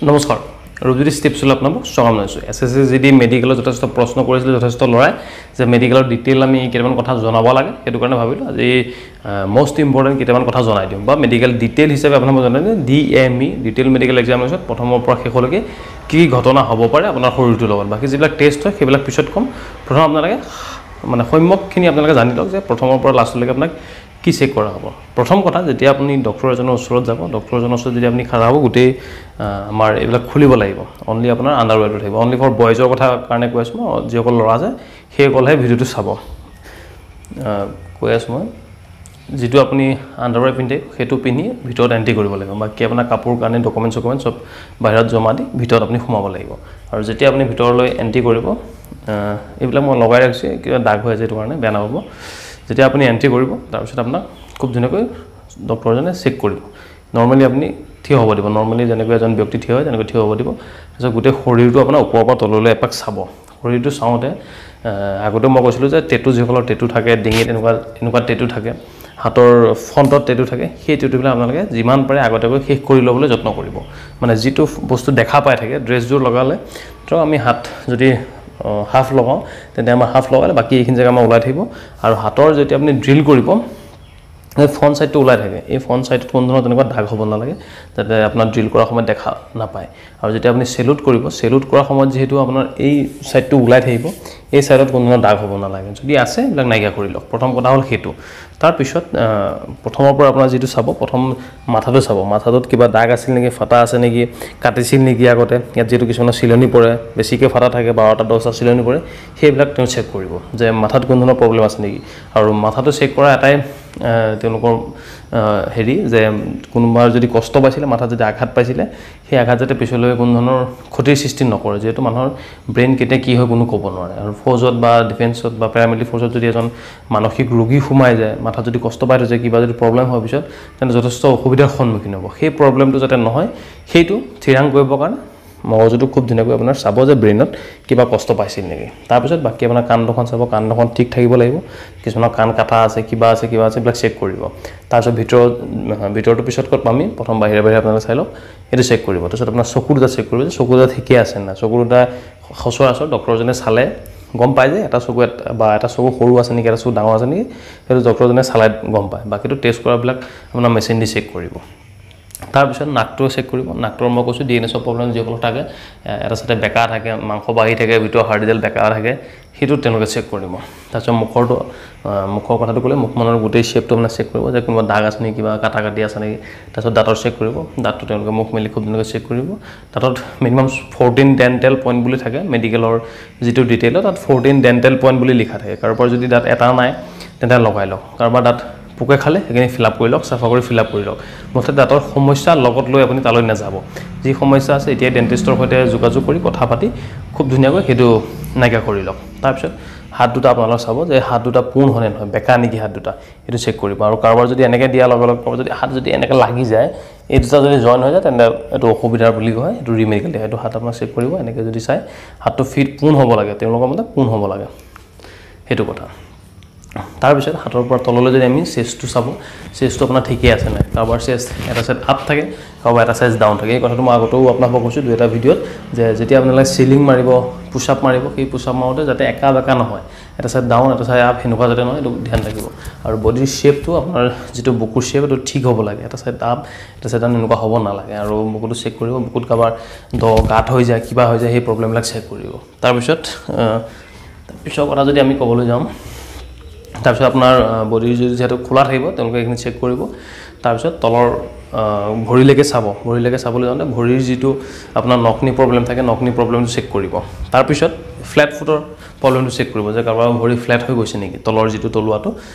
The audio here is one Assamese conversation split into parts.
নমস্কাৰ, ৰূপজ্যোতি ষ্টেপছলৈ আপোনালোক স্বাগতম জনাইছোঁ। S S C G D মেডিকেলত যথেষ্ট প্ৰশ্ন কৰিছিলে যথেষ্ট ল'ৰাই যে মেডিকেলৰ ডিটেইল আমি কেইটামান কথা জনাব লাগে, সেইটো কাৰণে ভাবিলোঁ আজি মষ্ট ইম্পৰ্টেণ্ট কেইটামান কথা জনাই দিওঁ বা মেডিকেল ডিটেইল হিচাপে আপোনাক মই জনাই দিওঁ। D M E detail medical examination প্ৰথমৰ পৰা শেষলৈকে কি কি ঘটনা হ'ব পাৰে আপোনাৰ শৰীৰটোৰ লগত, বাকী যিবিলাক টেষ্ট হয় সেইবিলাক পিছত ক'ম। প্ৰথম আপোনালোকে মানে সম্যকখিনি আপোনালোকে জানি লওক যে প্ৰথমৰ পৰা লাষ্টলৈকে আপোনাক কি চেক কৰা হ'ব। প্ৰথম কথা, যেতিয়া আপুনি ডক্টৰ এজনৰ ওচৰত যাব, ডক্টৰ এজনৰ ওচৰত যদি আপুনি খাৰা হ'ব, গোটেই আমাৰ এইবিলাক খুলিব লাগিব। অনলি আপোনাৰ আণ্ডাৰৱেৰটো থাকিব। অনলি ফৰ বয়জৰ কথা কাৰণে কৈ আছোঁ মই, যিসকল ল'ৰা আছে সেইসকলহে ভিডিঅ'টো চাব। কৈ আছোঁ মই, যিটো আপুনি আণ্ডাৰৱেৰ পিন্ধে সেইটো পিন্ধি ভিতৰত এণ্ট্ৰি কৰিব লাগিব। বাকী আপোনাৰ কাপোৰ কানি ডকুমেণ্টছ চকুমেণ্টছ চব বাহিৰত জমা দি ভিতৰত আপুনি সোমাব লাগিব। আৰু যেতিয়া আপুনি ভিতৰলৈ এণ্ট্ৰি কৰিব, এইবিলাক মই লগাই ৰাখিছোঁ, কিবা দাগ হৈ আছে সেইটো কাৰণে বেয়া নাপাব। যেতিয়া আপুনি এণ্ট্ৰি কৰিব তাৰপিছত আপোনাক খুব ধুনীয়াকৈ ডক্টৰজনে চেক কৰিব। নৰ্মেলি আপুনি থিয় হ'ব দিব, নৰ্মেলি যেনেকৈ এজন ব্যক্তি থিয় হয় তেনেকৈ থিয় হ'ব দিব। তাৰপিছত গোটেই শৰীৰটো আপোনাৰ ওপৰৰ পৰা তললৈ এপাক চাব। শৰীৰটো চাওঁতে আগতে মই কৈছিলোঁ যে টেটু, যিসকলৰ টেটু থাকে, ডিঙিত এনেকুৱা এনেকুৱা টেটু থাকে, হাতৰ ফ্ৰণ্টত টেটু থাকে, সেই টেটুবিলাক আপোনালোকে যিমান পাৰে আগতীয়াকৈ শেষ কৰি ল'বলৈ যত্ন কৰিব। মানে যিটো বস্তু দেখা পাই থাকে, ড্ৰেছযোৰ লগালে ধৰক আমি হাত যদি হাফ লগাওঁ, তেন্তে আমাৰ হাফ লগালে বাকী এইখিনি জেগা আমাৰ ওলাই থাকিব। আৰু হাতৰ যেতিয়া আপুনি ড্ৰিল কৰিব, এই ফ্ৰণ্ট ছাইডটো ওলাই থাকে। এই ফ্ৰণ্ট ছাইডটোত কোনো ধৰণৰ তেনেকুৱা দাগ হ'ব নালাগে, যাতে আপোনাৰ ড্ৰিল কৰাৰ সময়ত দেখা নাপায়। আৰু যেতিয়া আপুনি চেলুট কৰিব, চেলুট কৰাৰ সময়ত যিহেতু আপোনাৰ এই ছাইডটো ওলাই থাকিব, এই ছাইডত কোনো ধৰণৰ দাগ হ'ব নালাগে। যদি আছে এইবিলাক নাইকিয়া কৰি লওক। প্ৰথম কথা হ'ল সেইটো। তাৰপিছত প্ৰথমৰ পৰা আপোনাৰ যিটো চাব, প্ৰথম মাথাটো চাব, মাথাটোত কিবা দাগ আছিল নেকি, ফটা আছে নেকি, কাটিছিল নেকি আগতে। ইয়াত যিহেতু কিছুমানৰ চিলনি পৰে, বেছিকৈ ফটা থাকে, 12টা 10টা চিলনি পৰে, সেইবিলাক তেওঁ চেক কৰিব যে মাথাত কোনো ধৰণৰ প্ৰব্লেম আছে নেকি। আৰু মাথাটো চেক কৰা এটাই তেওঁলোকৰ হেৰি যে কোনোবাৰ যদি কষ্ট পাইছিলে, মাথাত যদি আঘাত পাইছিলে, সেই আঘাত যাতে পিছলৈ কোনো ধৰণৰ ক্ষতিৰ সৃষ্টি নকৰে। যিহেতু মানুহৰ ব্ৰেইন কেতিয়া কি হয় কোনো ক'ব নোৱাৰে। আৰু ফৌজত বা ডিফেন্সত বা পেৰামিলিটাৰী ফ'ৰ্চত যদি এজন মানসিক ৰোগী সোমাই যায়, মাথাত যদি কষ্ট পাই থৈছে, কিবা যদি প্ৰব্লেম হোৱাৰ পিছত, তেন্তে যথেষ্ট অসুবিধাৰ সন্মুখীন হ'ব। সেই প্ৰব্লেমটো যাতে নহয় সেইটো থিৰাং কৰিবৰ কাৰণে মগজুটো খুব ধুনীয়াকৈ আপোনাৰ চাব যে ব্ৰেইনত কিবা কষ্ট পাইছিল নেকি। তাৰপিছত বাকী আপোনাৰ কাণ দুখন চাব, কাণ দুখন ঠিক থাকিব লাগিব। কিছুমানৰ কাণ কাটা আছে, কিবা আছে, কিবা আছে, এইবিলাক চেক কৰিব। তাৰপিছত ভিতৰটো পিছত ক'ত পাম আমি, প্ৰথম বাহিৰে বাহিৰে আপোনালোকে চাই লওক, সেইটো চেক কৰিব। তাৰপিছত আপোনাৰ চকু দুটা চেক কৰিব যে চকু দুটা ঠিকে আছে নাই। চকু দুটা সচৰাচৰ ডক্টৰজনে চালে গম পায় যে এটা চকু বা এটা চকু সৰু আছে নেকি, এটা চকু ডাঙৰ আছে নেকি, সেইটো ডক্টৰজনে চালে গম পায়। বাকীটো টেষ্ট কৰাবিলাক আপোনাৰ মেচিন দি চেক কৰিব। তাৰপিছত নাকটো চেক কৰিব। নাকটোৰ মই কৈছোঁ ডি এন এছৰ প্ৰব্লেম যিসকলৰ থাকে, এটা চাইডে বেকা থাকে, মাংস বাঢ়ি থাকে, ভিতৰৰ হাৰ্ডিডাল বেকা থাকে, সেইটো তেওঁলোকে চেক কৰিব। তাৰপিছত মুখৰটো, মুখৰ কথাটো ক'লে মুখখনৰ গোটেই শ্বেপটো আপোনাৰ চেক কৰিব যে কোনোবা দাগ আছে নেকি, কিবা কাটা কাটি আছে নেকি। তাৰপিছত দাঁতৰ চেক কৰিব। দাঁতটো তেওঁলোকে মুখ মেলি খুব ধুনীয়াকৈ চেক কৰিব। দাঁতত মিনিমাম 14 ডেণ্টেল পইণ্ট বুলি থাকে, মেডিকেলৰ যিটো ডিটেইলত তাত 14 ডেণ্টেল পইণ্ট বুলি লিখা থাকে। কাৰোবাৰ যদি দাঁত এটা নাই তেন্তে লগাই লওক, কাৰোবাৰ দাঁত পোকে খালে সেইখিনি ফিল আপ কৰি লওক, চাফা কৰি ফিল আপ কৰি লওক। মুঠতে দাঁতৰ সমস্যা লগত লৈ আপুনি তালৈ নাযাব। যি সমস্যা আছে এতিয়াই ডেণ্টিষ্টৰ সৈতে যোগাযোগ কৰি কথা পাতি খুব ধুনীয়াকৈ সেইটো নাইকিয়া কৰি লওক। তাৰপিছত হাত দুটা আপোনালোকে চাব যে হাত দুটা পোন হয়নে নহয়, বেকা নেকি হাত দুটা, সেইটো চেক কৰিব। আৰু কাৰোবাৰ যদি এনেকৈ দিয়াৰ লগে লগে কাৰোবাৰ যদি হাত যদি এনেকৈ লাগি যায়, এই দুটা যদি জইন হৈ যায়, তেন্তে এইটো অসুবিধাৰ বুলি কয়, এইটো ৰিমেডিকেল দিয়ে। সেইটো হাত আপোনাক চেক কৰিব। এনেকৈ যদি চাই হাতটো ফিট পোন হ'ব লাগে, তেওঁলোকৰ মতে পোন হ'ব লাগে, সেইটো কথা। তাৰপিছত হাতৰ পৰা তললৈ যদি আমি চেষ্টটো চাব, চেষ্টটো আপোনাৰ ঠিকেই আছে নাই। কাৰোবাৰ চেষ্ট এটা চাইড আপ থাকে, কাৰোবাৰ এটা চাইজ ডাউন থাকে। এই কথাটো মই আগতেও আপোনালোকক কৈছোঁ দুই এটা ভিডিঅ'ত যে যেতিয়া আপোনালোকে চিলিং মাৰিব, পুছ আপ মাৰিব, সেই পুছ আপ মাৰোঁতে যাতে একা বেকা নহয়, এটা চাইড ডাউন এটা চাইড আপ সেনেকুৱা যাতে নহয়, এইটো ধ্যান ৰাখিব। আৰু বডিৰ শ্বেপটো আপোনাৰ যিটো বুকুৰ শ্বেপ এইটো ঠিক হ'ব লাগে, এটা চাইড আপ এটা চাইড ডাউন এনেকুৱা হ'ব নালাগে। আৰু বুকুটো চেক কৰিব, বুকুত কাৰোবাৰ দ গাঁত হৈ যায়, কিবা হৈ যায়, সেই প্ৰব্লেমবিলাক চেক কৰিব। তাৰপিছত পিছৰ কথা যদি আমি ক'বলৈ যাওঁ, তাৰপিছত আপোনাৰ বডিৰ যদি যিহেতু খোলা থাকিব, তেওঁলোকে এইখিনি চেক কৰিব। তাৰপিছত তলৰ ভৰিলৈকে চাব। ভৰিলৈকে চাবলৈ যাওঁতে ভৰিৰ যিটো আপোনাৰ নখনি প্ৰব্লেম থাকে, নখনি প্ৰব্লেমটো চেক কৰিব। তাৰপিছত ফ্লেট ফুটৰ প্ৰব্লেমটো চেক কৰিব যে কাৰোবাৰ ভৰি ফ্লেট হৈ গৈছে নেকি, তলৰ যিটো তলুৱাটো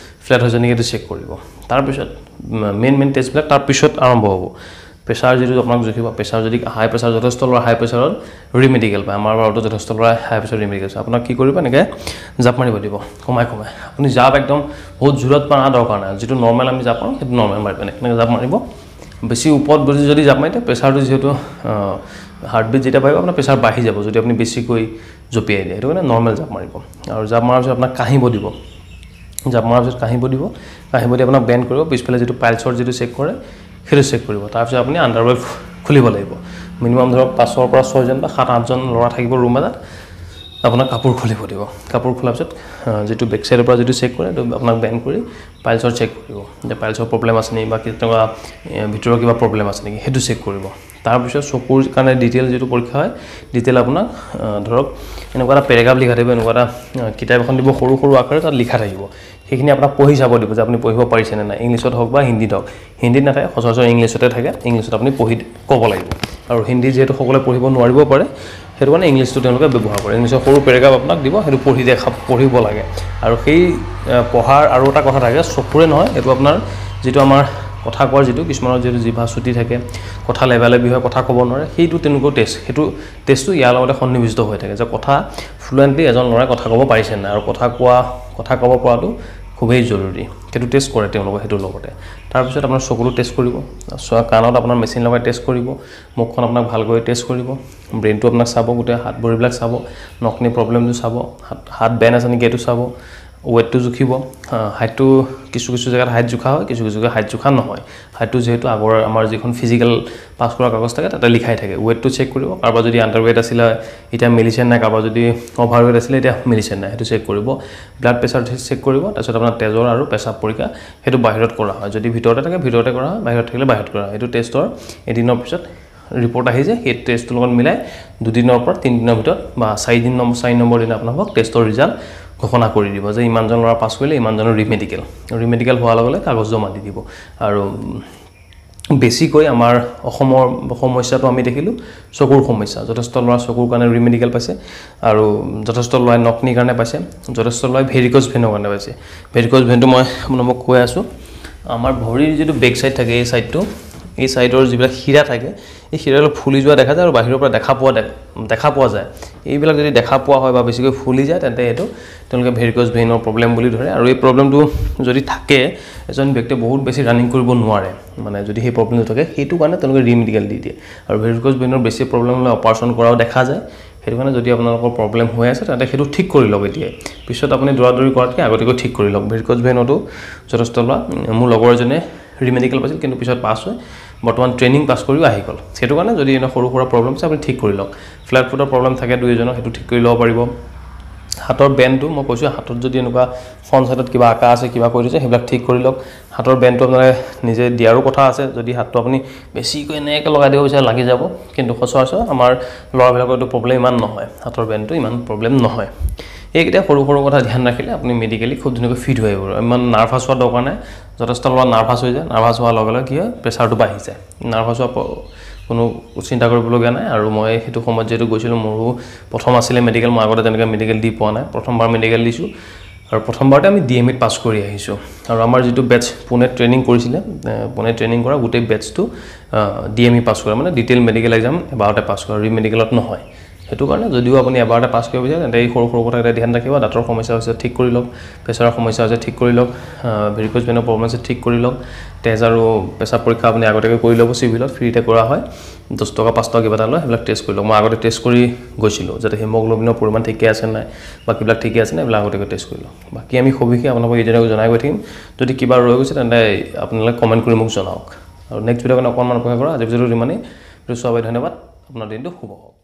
ফ্লেট হৈছে নেকি, সেইটো চেক কৰিব। তাৰপিছত মেইন মেইন টেষ্টবিলাক তাৰপিছত আৰম্ভ হ'ব। প্ৰেছাৰ যিটো আপোনাক জুখিব, প্ৰেছাৰ যদি হাই প্ৰেছাৰ, যথেষ্ট ল'ৰা হাই প্ৰেছাৰত ৰিমেডিকেল পায়। আমাৰ বাৰতো যথেষ্ট ল'ৰা হাই প্ৰেছাৰ ৰিমেডিকেল পায়। আপোনাক কি কৰিব, এনেকৈ জাপ মাৰিব দিব কমাই কমাই। আপুনি জাপ একদম বহুত জোৰত মাৰা দৰকাৰ নাই, যিটো নৰ্মেল আমি জাপ মাৰোঁ সেইটো নৰ্মেল মাৰিব, এনেকৈ জাপ মাৰিব। বেছি ওপৰত যদি জাপ মাৰি দিয়ে, প্ৰেছাৰটো যিহেতু হাৰ্টবিট যেতিয়া বাঢ়িব আপোনাৰ প্ৰেছাৰ বাঢ়ি যাব যদি আপুনি বেছিকৈ জঁপিয়াই দিয়ে, সেইটো কাৰণে নৰ্মেল জাপ মাৰিব। আৰু জাপ মৰাৰ পিছত আপোনাক কাহিব দিব, জাপ মৰাৰ পিছত কাহিব দিব, কাহিব দি আপোনাক বেণ্ড কৰিব। পিছফালে যিটো পাইলছৰ যিটো চেক কৰে সেইটো চেক কৰিব। তাৰপিছত আপুনি আণ্ডাৰৱেৰ খুলিব লাগিব। মিনিমাম ধৰক 5ৰ পৰা 6জন বা 7-8জন ল'ৰা থাকিব ৰুম এটাত। আপোনাক কাপোৰ খুলিব দিব, কাপোৰ খোলাৰ পিছত যিটো বেক চাইডৰ পৰা যিটো চেক কৰে সেইটো আপোনাক বেন কৰি পাইলছৰ চেক কৰিব, যে পাইলছৰ প্ৰব্লেম আছে নেকি বা তেনেকুৱা ভিতৰৰ কিবা প্ৰব্লেম আছে নেকি সেইটো চেক কৰিব। তাৰপিছত চকুৰ কাৰণে ডিটেইল যিটো পৰীক্ষা হয়, ডিটেইল আপোনাক ধৰক এনেকুৱা এটা পেৰেগ্ৰাফ লিখা থাকিব, এনেকুৱা এটা কিতাপ এখন দিব সৰু সৰু আখৰে তাত লিখা থাকিব, সেইখিনি আপোনাক পঢ়ি চাব দিব যে আপুনি পঢ়িব পাৰিছেনে নাই, ইংলিছত হওক বা হিন্দীত হওক। হিন্দীত নাথাকে, সচৰাচৰ ইংলিছতে থাকে, ইংলিছত আপুনি পঢ়ি ক'ব লাগিব। আৰু হিন্দী যিহেতু সকলোৱে পঢ়িব নোৱাৰিব পাৰে, সেইটো কাৰণে ইংলিছটো তেওঁলোকে ব্যৱহাৰ কৰে। ইংলিছৰ সৰু পেৰেগ্ৰাফ আপোনাক দিব, সেইটো পঢ়ি দেখা পঢ়িব লাগে। আৰু সেই পঢ়াৰ আৰু এটা কথা থাকে, চকুৰে নহয়, এইটো আপোনাৰ যিটো আমাৰ কথা কোৱাৰ যিটো কিছুমানৰ যিটো জিভা চুটি থাকে, কথা লেবালেবি হয়, কথা ক'ব নোৱাৰে, সেইটো তেওঁলোকেও টেষ্ট, সেইটো টেষ্টটো ইয়াৰ লগতে সন্নিৱিষ্ট হৈ থাকে যে কথা ফ্লুৱেণ্টলি এজন ল'ৰাই কথা ক'ব পাৰিছে নাই। আৰু কথা ক'ব পৰাটো খুবেই জৰুৰী, সেইটো টেষ্ট কৰে তেওঁলোকে সেইটোৰ লগতে। তাৰপিছত আপোনাৰ চকুটো টেষ্ট কৰিব, কাণত আপোনাৰ মেচিন লগাই টেষ্ট কৰিব, মুখখন আপোনাক ভালকৈ টেষ্ট কৰিব, ব্ৰেইনটো আপোনাক চাব, গোটেই হাত ভৰিবিলাক চাব, নকনি প্ৰব্লেমটো চাব, হাত বেন আছে নেকি এইটো চাব, ৱেটটো জুখিব, হাইটটো কিছু কিছু জেগাত হাইট জোখা হয়, কিছু কিছু জেগাত হাইট জোখা নহয়। হাইটটো যিহেতু আগৰ আমাৰ যিখন ফিজিকেল পাছ কৰা কাগজ থাকে তাতে লিখাই থাকে। ৱেটটো চেক কৰিব, কাৰোবাৰ যদি আণ্ডাৰ ৱেট আছিলে এতিয়া মিলিছে নাই, কাৰোবাৰ যদি অভাৰ ৱেট আছিলে এতিয়া মিলিছে নাই, সেইটো চেক কৰিব। ব্লাড প্ৰেছাৰ চেক কৰিব, তাৰপিছত আপোনাৰ তেজৰ আৰু পেচাব পৰীক্ষা সেইটো বাহিৰত কৰা হয়, যদি ভিতৰতে থাকে ভিতৰতে কৰা হয়, বাহিৰত থাকিলে বাহিৰত কৰা হয়। সেইটো টেষ্টৰ এদিনৰ পিছত ৰিপৰ্ট আহি যায়, সেই টেষ্টটোৰ লগত মিলাই 2 দিনৰ পৰা 3 দিনৰ ভিতৰত বা 4 নম্বৰ দিনা আপোনালোকক টেষ্টৰ ৰিজাল্ট ঘোষণা কৰি দিব যে ইমানজন ল'ৰা পাছ কৰিলে, ইমানজনৰ ৰিমেডিকেল, ৰিমেডিকেল হোৱাৰ লগে লগে কাগজ জমা দি দিব। আৰু বেছিকৈ আমাৰ অসমৰ সমস্যাটো আমি দেখিলোঁ চকুৰ সমস্যা, যথেষ্ট ল'ৰা চকুৰ কাৰণে ৰিমেডিকেল পাইছে, আৰু যথেষ্ট ল'ৰাই নকনিৰ কাৰণে পাইছে, যথেষ্ট ল'ৰাই ভেৰিকজ ভেনৰ কাৰণে পাইছে। ভেৰিকজ ভেনটো মই আপোনালোকক কৈ আছোঁ, আমাৰ ভৰিৰ যিটো বেক চাইড থাকে, এই চাইডটো, এই চাইডৰ যিবিলাক শিৰা থাকে, এই শিৰাবিলাক ফুলি যোৱা দেখা যায় আৰু বাহিৰৰ পৰা দেখা পোৱা যায়। এইবিলাক যদি দেখা পোৱা হয় বা বেছিকৈ ফুলি যায়, তেন্তে এইটো তেওঁলোকে ভেৰিকজ ভেইনৰ প্ৰব্লেম বুলি ধৰে। আৰু এই প্ৰব্লেমটো যদি থাকে, এজন ব্যক্তিয়ে বহুত বেছি ৰানিং কৰিব নোৱাৰে, মানে যদি সেই প্ৰব্লেমটো থাকে, সেইটো কাৰণে তেওঁলোকে ৰিমেডিকেল দি দিয়ে। আৰু ভেৰিকজ ভেইনৰ বেছি প্ৰব্লেম হ'লে অপাৰেশ্যন কৰাও দেখা যায়। সেইটো কাৰণে যদি আপোনালোকৰ প্ৰব্লেম হৈ আছে তেন্তে সেইটো ঠিক কৰি লওক এতিয়াই, পিছত আপুনি দৌৰা দৌৰি কৰাতকৈ আগতীয়াকৈ ঠিক কৰি লওক। ভেৰিকজ ভেইনতো যথেষ্ট লোৱা, মোৰ লগৰ এজনে ৰিমেডিকেল পাইছিল, কিন্তু পিছত পাছ হৈ বৰ্তমান ট্ৰেইনিং পাছ কৰিও আহি গ'ল। সেইটো কাৰণে যদি এনে সৰু সুৰা প্ৰব্লেম আছে আপুনি ঠিক কৰি লওক। ফ্লেট ফুটৰ প্ৰব্লেম থাকে দুই এজনৰ, সেইটো ঠিক কৰি ল'ব পাৰিব। হাতৰ বেণ্ডটো মই কৈছোঁ, হাতত যদি এনেকুৱা ফ্ৰণ্ট চাইডত কিবা আঁকা আছে, কিবা কৰি থৈছে, সেইবিলাক ঠিক কৰি লওক। হাতৰ বেণ্ডটো আপোনালোকে নিজে দিয়াৰো কথা আছে, যদি হাতটো আপুনি বেছিকৈ এনেকৈ লগাই দিব বিচাৰে লাগি যাব, কিন্তু সচৰাচৰ আমাৰ ল'ৰাবিলাকৰ এইটো প্ৰব্লেম ইমান নহয়, হাতৰ বেণ্ডটো ইমান প্ৰব্লেম নহয়। এইকেইটা সৰু সৰু কথা ধ্যান ৰাখিলে আপুনি মেডিকেলি খুব ধুনীয়াকৈ ফিট হৈ আহিব। ইমান নাৰ্ভাছ হোৱাৰ দৰকাৰ নাই। যথেষ্ট ল'ৰা নাৰ্ভাছ হৈ যায়, নাৰ্ভাছ হোৱাৰ লগে লগে কি হয়, প্ৰেছাৰটো বাঢ়ি যায়। নাৰ্ভাছ হোৱা কোনো চিন্তা কৰিবলগীয়া নাই। আৰু মই সেইটো সময়ত যিহেতু গৈছিলোঁ, মোৰো প্ৰথম আছিলে মেডিকেল, মই আগতে তেনেকৈ মেডিকেল দি পোৱা নাই, প্ৰথমবাৰ মেডিকেল দিছোঁ আৰু প্ৰথমবাৰতে আমি DMEত পাছ কৰি আহিছোঁ। আৰু আমাৰ যিটো বেটছ পুনেত ট্ৰেইনিং কৰিছিলে, পুনেত ট্ৰেইনিং কৰা গোটেই বেটছটো DME পাছ কৰা, মানে ডিটেইল মেডিকেল এক্সাম এবাৰতে পাছ কৰা, ৰিমেডিকেলত নহয়। সেইটো কাৰণে যদিও আপুনি এবাৰতে পাছ কৰিব বিচাৰে, তেন্তে এই সৰু সৰু কথাকেইটা ধ্যান ৰাখিব। দাঁতৰ সমস্যা হৈছে ঠিক কৰি লওক, প্ৰেছাৰৰ সমস্যা হৈছে ঠিক কৰি লওক, ভেৰিকজ ভেইনৰ প্ৰব্লেম আছে ঠিক কৰি লওক। তেজ আৰু পেচাব পৰীক্ষা আপুনি আগতীয়াকৈ কৰি ল'ব, চিভিলত ফ্ৰীতে কৰা হয়, 10 টকা 5 টকা কিবা এটা লয়, সেইবিলাক টেষ্ট কৰি লওক। মই আগতে টেষ্ট কৰি গৈছিলোঁ যাতে হিমগ্ল'বিনৰ পৰিমাণ ঠিকে আছে নাই, বাকীবিলাক ঠিকে আছে নাই, এইবিলাক আগতীয়াকৈ টেষ্ট কৰি লওক। বাকী আমি সবিশেষ আপোনালোকক এইজনক জনাই গৈ থাকিম। যদি কিবা ৰৈ গৈছে তেন্তে আপোনালোকে কমেণ্ট কৰি মোক জনাওক। আৰু নেক্সট ভিডিঅ'ৰ কাৰণে অকণমান অপেক্ষা কৰা। আজি ভিডিঅ'টো ইমানেই, ভিডিঅ' চোৱাৰ বাবে ধন্যবাদ। আপোনাৰ দিনটো শুভ হওক।